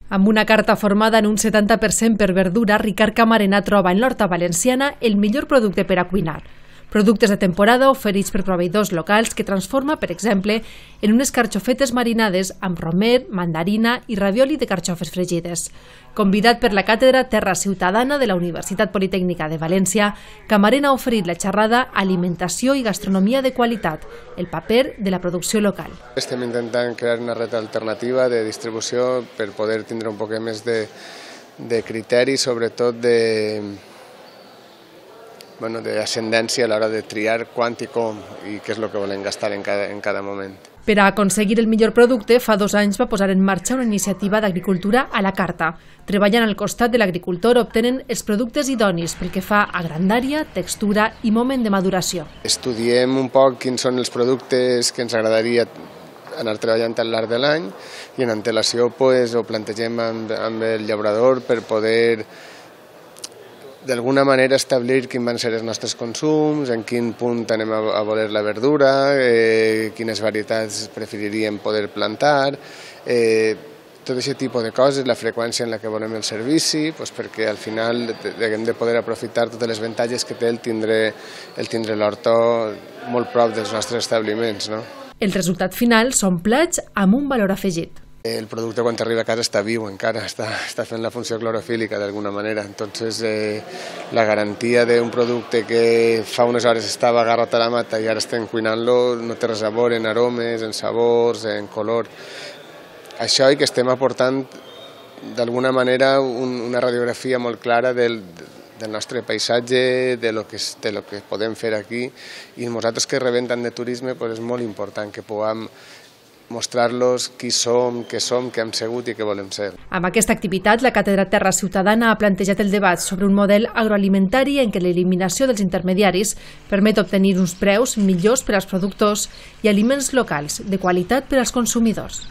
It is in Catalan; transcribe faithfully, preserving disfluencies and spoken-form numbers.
Amb una carta formada en un setanta per cent per verdura, Ricard Camarena troba en l'horta valenciana el millor producte per a cuinar. Productes de temporada oferits per proveïdors locals que transforma, per exemple, en unes carxofetes marinades amb romer, mandarina i ravioli de carxofes fregides. Convidat per la càtedra Terra Ciutadana de la Universitat Politècnica de València, Camarena ha oferit la xerrada Alimentació i gastronomia de qualitat, el paper de la producció local. Estem intentant crear una red alternativa de distribució per poder tindre un poc més de, de criteri, sobretot de Bueno, d'ascendència a l'hora de triar quant i com i què és el que volem gastar en cada, en cada moment. Per a aconseguir el millor producte, fa dos anys va posar en marxa una iniciativa d'agricultura a la carta. Treballant al costat de l'agricultor obtenen els productes idonis pel que fa a grandària, textura i moment de maduració. Estudiem un poc quins són els productes que ens agradaria anar treballant al llarg de l'any i en antelació pues, ho plantegem amb, amb el llaurador per poder d'alguna manera establir quins van ser els nostres consums, en quin punt anem a voler la verdura, eh, quines varietats preferiríem poder plantar, eh, tot aquest tipus de coses, la freqüència en la que volem el servici, doncs perquè al final hem de poder aprofitar totes les avantatges que té el tindre el tindre l'horta molt prop dels nostres establiments. No? El resultat final són plats amb un valor afegit. El producte quan arriba a casa està viu encara, està, està fent la funció clorofílica d'alguna manera. Entonces, eh, la garantia d'un producte que fa unes hores estava agarrat a la mata i ara estem cuinant-lo no té res a veure en aromes, en sabors, en color. Això i que estem aportant d'alguna manera un, una radiografia molt clara del, del nostre paisatge, de lo que, de lo que podem fer aquí i nosaltres que rebem tant de turisme pues és molt important que puguem mostrar-los qui som, què som, què hem sigut i què volem ser. Amb aquesta activitat, la Càtedra Terra Ciutadana ha plantejat el debat sobre un model agroalimentari en què l'eliminació dels intermediaris permet obtenir uns preus millors per als productors i aliments locals de qualitat per als consumidors.